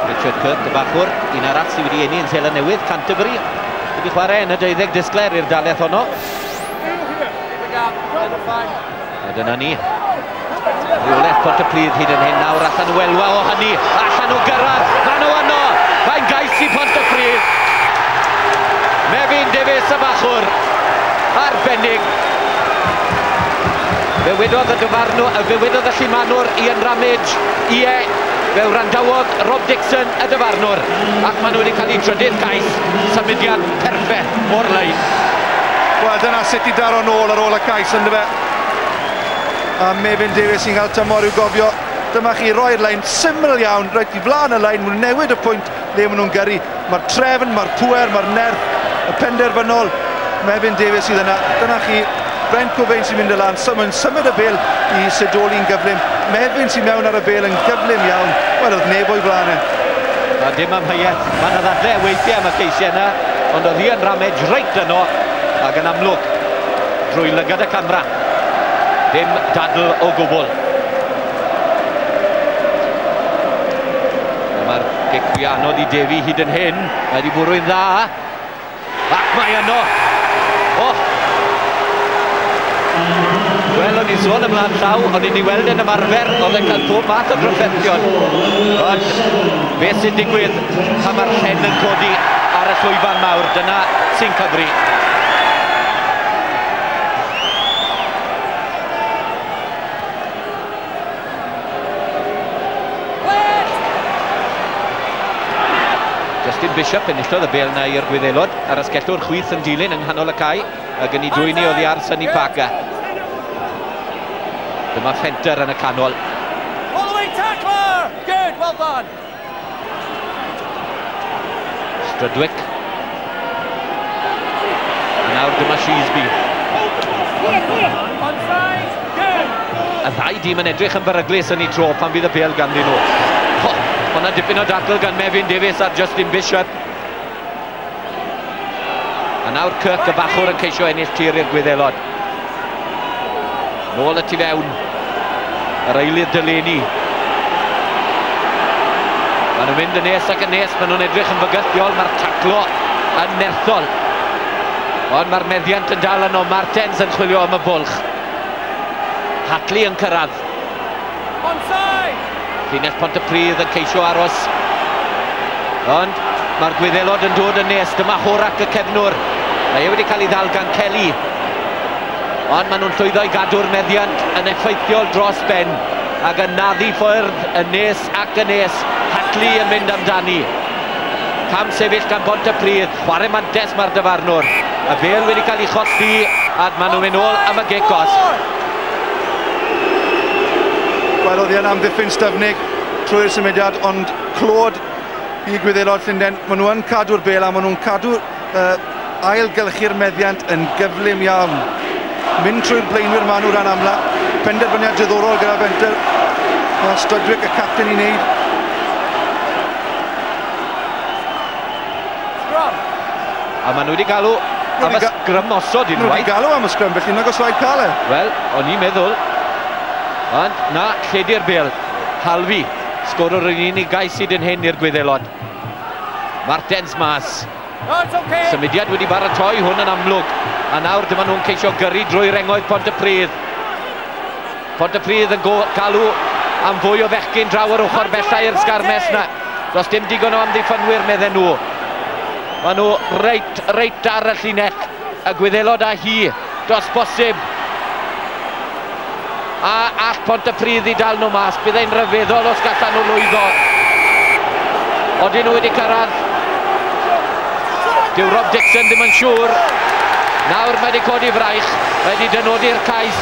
Richard Kirk, y bachwr, un arall sydd wedi eni yn Seland Newydd, Canterbury, wedi chwarae yn y 12 disglair i'r dalaith honno. A dyna ni. Rheolaeth Pontypridd hyd yn hyn nawr, allan nhw elwa o hynny, allan nhw gyrraedd, maen nhw yno, mae'n gais i Pontypridd. Mefin Davies y bachwr, arbennig. Fe wedodd y dyfarnwr, fe wedodd y llumanwr Ian Ramage, ie, fe wrandawodd Rob Dixon y dyfarnwr, ac maen nhw wedi cael eu trydydd cais, symudiad perffaith o'r lein. Wel, dyna sut i daro nôl ar ôl y cais, yndyfe? A Mefin Davies sy'n cael tymor i'w gofio. Dyma chi roi'r lein syml iawn, reit i flaen y lein, maen nhw'n newid y pwynt le maen nhw'n gyrru. Mae'r trefn, mae'r pŵer, mae'r nerth, y penderfynol. Mefin Davies sydd yna. Dyna chi, Brent Cobain sy'n mynd y lan, mae'n symud y bêl i Sidoli'n gyflym. Mefin sy'n mewn ar y bêl yn gyflym iawn. Wel, oedd neb o'i flaen e. A dim amheuaeth, mae yna ddadle weithiau am y ceisiau yna, ond oedd Ian Ramage reit yno, ac yn amlwg, drwy lygad y camera. Dim dadl o gwbl. Mae'r gic fwy anodd i Defi hyd yn hyn. Mae wedi bwrw'n dda. Ac mae yno. Oh! Wel, o'n i'n sôn ymlaen llaw, o'n i'n ei weld yn ymarfer, oedd e'n cael pob math o drafferthion. Ond beth sy'n digwydd pan mae'r llen yn codi ar y llwyfan mawr, dyna sy'n cyfri. Justin Bishop enillodd y bêl na i'r Gwyddelod, a'r asgellwr chwith yn dilyn yng nghanol y cae, ac yn ei dwyni oddi ar Sonny Parker. Dyma Fenter yn y canol. All the way, tackler! Good, well done! Strudwick. A nawr dyma Sheesby. Y ddau dîm yn edrych yn beryglus yn ei tro pan fydd y bêl ganddyn nhw. Oh, hwnna dipyn o dacl gan Mefin Davies ar Justin Bishop. A nawr Kirk y bachwr yn ceisio ennill tir i'r Gwyddelod. Nôl y tu fewn. Yr eilydd Delaney. Maen nhw'n mynd yn nes ac yn nes, maen nhw'n edrych yn fygythiol, mae'r taclo yn nerthol. Ond mae'r meddiant yn dal yno, Martens yn chwilio am y bwlch. Hatley yn cyrraedd. Llinell Pontypridd yn ceisio aros. Ond mae'r Gwyddelod yn dod yn nes, dyma Horak y cefnwr. Mae e wedi cael ei ddal gan Kelly. Ond maen nhw'n llwyddo i gadw'r meddiant yn effeithiol dros ben ac yn naddu ffyrdd yn nes ac yn nes. Hatley yn mynd amdani. Cam sefyll gan Pontypridd, chwarae mantes mae'r dyfarnwr. Y bêl wedi cael ei cholli a maen nhw'n mynd nôl am y gic gosb. Wel, oedd hi'n amddiffyn styfnig trwy'r symudiad, ond clod i Gwyddelod Llundain. Maen nhw yn cadw'r bêl a maen nhw'n cadw ailgylchu'r meddiant yn gyflym iawn. Mynd trwy'r blaenwyr maen nhw ran amla. Penderfyniad diddorol gyda Fenter. Mae Strudwick y capten i wneud. A maen nhw wedi galw am y sgrym osod unwaith. Nhw wedi galw am y sgrym, felly nag oes rhaid cael e. Wel, o'n i'n meddwl. Ond na, lledu'r bêl. Halfi, sgorwr yr unig gais hyd yn hyn i'r Gwyddelod. Martens mas. Okay. Symudiad wedi baratoi hwn yn amlwg. A nawr dyma nhw'n ceisio gyrru drwy rengoedd Pontypridd. Pontypridd yn galw am fwy o fechgyn draw yr ochr bellau i'r sgarmes na. Does dim digon o amddiffynwyr, medden nhw. Maen nhw reit ar y llinell. Y Gwyddelod a hi, dos bosib. A all Pontypridd i dal nhw mas. Bydd e'n rhyfeddol os gallan nhw lwyddo. Odyn nhw wedi cyrraedd. Dyw Rob Dixon ddim yn siŵr. Nawr mae wedi codi fraich, mae wedi dynodi'r cais.